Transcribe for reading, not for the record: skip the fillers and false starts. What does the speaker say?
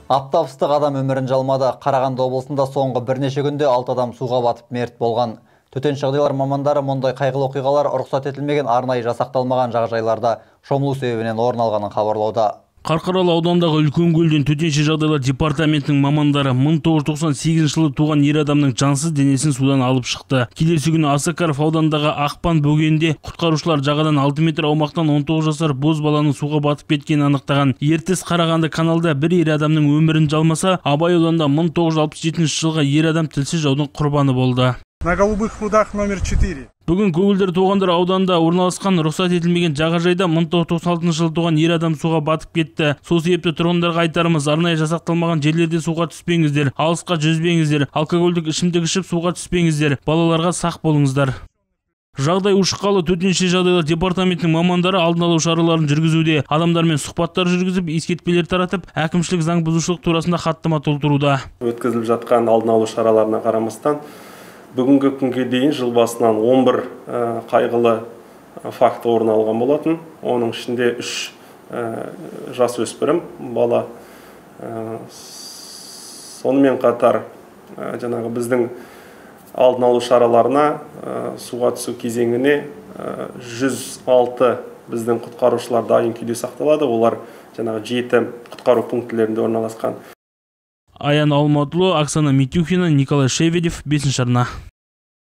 Аптап ыстық адам өмірін жалмады. Қарағанды облысында соңғы бірнеше күнде 6 адам суға батып мерт болған. Төтенше жағдайлар мамандары мұндай қайғылы оқиғалар рұқсат етілмеген арнайы жасақталмаған жағажайларда шомылу себебінен орын алғанын хабарлауда. Қарқаралы аудандағы үлкен көлден төтенше жағдайлар департаментінің мамандары 1998 жылы туған ер адамның жансыз денесін судан алып шықты. Келесі күні Осакаров аудандағы Ақпан бөгенде құтқарушылар жағадан 6 метр аумақтан 19 жасар боз баланың суға батып кеткенін анықтаған. Ертіс Қарағанды каналда бір ер адамның өмірін жалмаса, Абай ауданында 1967 жылғы ер адам тілсіз жаудың құрбаны болды. На Голубых прудах номер 4. Бүгін Көгілдір Тоғандар ауданында орналасқан рұқсат етілмеген жағажайда 1996 жылы туған ер адам суға батып кетті. Сол себепті тұрғындарға айтарымыз, арнайы жасақталмаған жерлерде суға түспеңіздер, алысқа жүзбеңіздер, алкогольдік ішімдік ішіп суға түспеңіздер, балаларға сақ болыңыздар. Жағдай ушыққалы төтенше жағдайлар департаментінің мамандары алдын алу шараларын жүргізуде. Адамдармен сұхбаттар жүргізіп, ескертпелер таратып, әкімшілік заң бұзушылық турасында хаттама толтыруда. Өткізіліп жатқан алдын алу шараларына қарамастан бүгінгі күнге дейін жыл басынан 11 қайғылы факті орын алған болатын. Оның ішінде 3 жасөспірім бала. Сонымен қатар жаңағы біздің алдын алу шараларына суға түсу кезеңіне 106 біздің құтқарушылар дайын күйде сақталады. Олар жаңағы 7 құтқару пункттерінде орналасқан. Аян Алматұлы, Оксана Митюхина, Николай Шеведев, 5-ші арна.